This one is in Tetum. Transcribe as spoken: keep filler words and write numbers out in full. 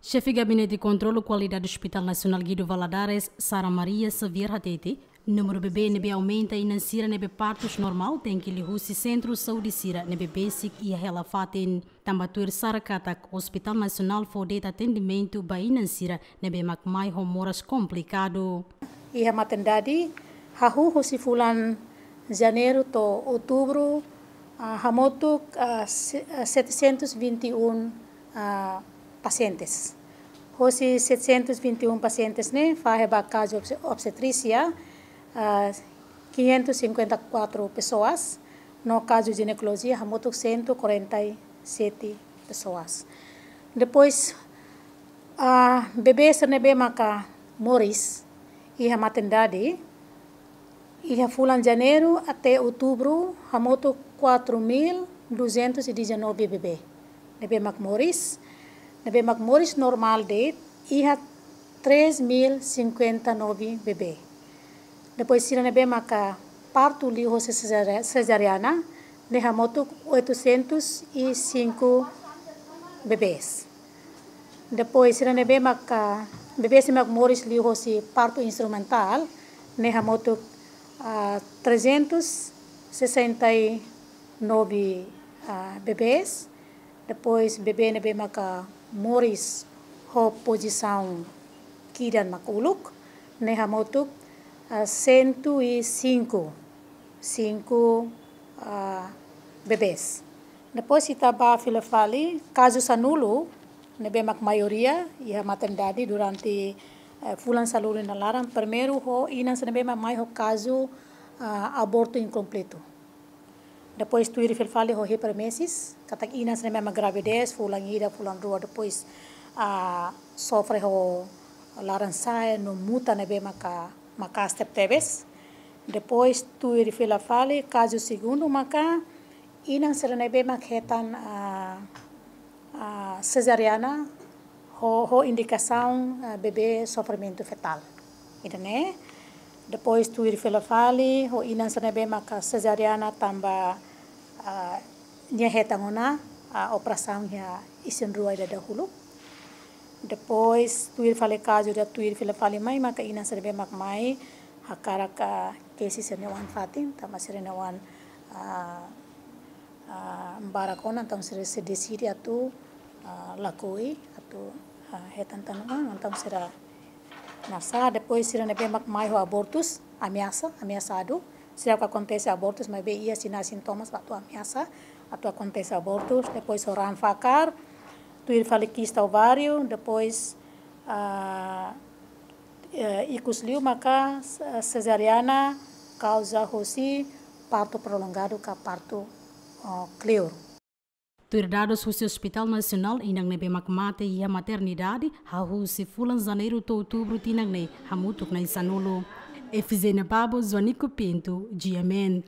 Xefe Gabinete Kontrolu Kualidade Hospital Nasionál Guido Valadares, Sara Maria Xavier hatete, númeru bebé ne'ebé aumenta inan sira ne'ebé partus normál tenke liuhusi sentru saúde sira ne'ebé besik iha hela fatin. Tanba tuir Sara katak Hospital Nasionál fó de'it atendimentu ba inan sira ne'ebé mak mai ho moras komplikadu. Iha maternidade, hahú husi fulan Janeiru to'o Outubru, ah, hamutuk, ah, se-, ah, setecentos e vinte e um, ah, pacientes. Hosi setecentos e vinte e um pacientes ne'e, fahe ba kazu obse-, obstetrísia, ah, quinhentos e cinquenta e quatro pessoas, no kazu jinekolojia, hamutuk cento e quarenta e sete pessoas. Depois, ah, bebé sira ne'ebé maka moris iha maternidade, iha fulan Janeiru até Outubru, hamutuk quatro mil duzentos e dezanove bebé ne'ebé mak moris. Ne'ebé mak moris normál de'it, iha três mil cinquenta e nove bebé. Depois sira ne'ebé maka partu liuhosi cesare-, cesariana, ne'e hamutuk oitocentos e cinco bebés. Depois sira ne'ebé maka, bebés ne'ebé mak moris liuhosi partu instrumentál, ne'e hamutuk, ah, trezentos e sessenta e nove, ah, bebés. Depois bebé ne'ebé maka moris ho pozisaun kidan mak uluk, ne'e hamutuk, ah, cento e cinco, cinco, ah, bebés. Depois ita bá fila fali, kazu sanulu, ne'ebé mak maioria iha maternidade durante, eh, fulan sanulu nia laran, primeiru ho inan sira ne'ebé mak mai ho kazu, ah, abortu inkompletu. Depois tuir fila fali ho hiperemesis, katak inan sira ne'ebé mak gravidez, fulan ida, fulan rua, depois, ah, sofre ho laran-sa'e no muta ne'ebé maka maka'as tebetebes. Depois tuir fila fali, kazu segundu maka inan sira ne'ebé mak hetan, ah, ah, cesariana ho, ho indikasaun, ah, bebé sofrimentu fetál. Ida-ne'e. Depois tuir fila fali, ho inan sira ne'ebé maka cesariana tanba, ah, nia hetan ona, ah, operasaun iha isin-rua ida dahuluk. Depois tuir fali kazu ida tuir fila fali mai, maka inan sira ne'ebé mak mai hakarak, ah, kesi sira-nia oan-fatin, tanba sira-nia oan, ah, ah, barak ona, entaun sira, sira deside atu, ah, lakohi, atu, ah, hetan tan oan, entaun sira nasa. Depois sira ne'ebé mak mai ho abortus, ameasa, ameasadu. Seidauk akontese abortus, maibé iha sinál sintomas ba atu ameasa atu akontese abortus. Depois ho raan fakar, tuir fali kista ováriu, depois, ah, eh, ikus liu maka, eh, cesariana kauza hosi partu prolongadu ka partu, eh, kleur. Tuir dadus husi Hospital Nasionál, inan ne'ebé mak mate iha maternidade, hahú husi fulan Janeiru to'o Outubru tinan ne'e, hamutuk na'in sanulu. Efizénia Babo, Joanico Pinto, G M N.